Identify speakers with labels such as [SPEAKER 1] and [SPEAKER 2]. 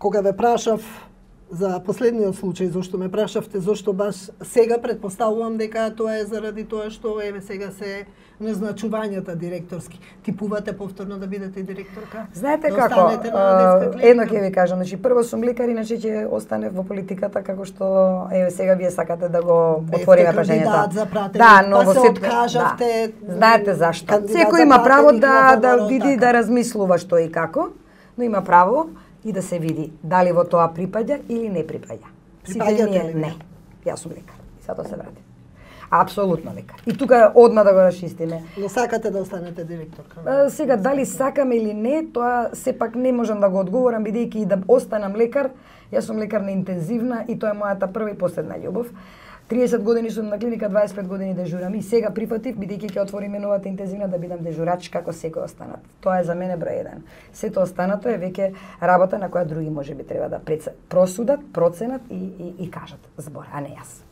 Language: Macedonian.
[SPEAKER 1] кога ве прашав за последниот случај, зашто ме прашавте, зашто баш сега претпоставувам дека тоа е заради тоа што еве сега се назначувањата директорски. Типувате повторно да бидете директорка?
[SPEAKER 2] Знаете
[SPEAKER 1] да
[SPEAKER 2] како? Едно ќе ви кажам, значи прво сум лекар, иначе ќе остане во политиката како што еве сега вие сакате да го отвориме прашањето. Да, но во сето кажавте. Да. Знаете зашто? Секој има право да види, да размислува што и како, но има право и да се види дали во тоа припаѓа или не припаѓа.
[SPEAKER 1] Припаѓате ли?
[SPEAKER 2] Не. Јас сум лекар. И затоа се вратим. Апсолутно лекар. И тука одма да го расчистиме.
[SPEAKER 1] Но сакате да останете директорка?
[SPEAKER 2] Сега дали сакам или не, тоа сепак не можам да го одговорам бидејќи и да останам лекар. Јас сум лекар на интензивна и тоа е мојата прва и последна љубов. 30 години сум на клиника, 25 години дежурам и сега прифатив бидејќи ќе отвориме новата интензивна да бидам дежурач како секој останат. Тоа е за мене број 1. Сето останато е веќе работа на која други можеби треба да просудат, проценат и кажат збор, а не јас.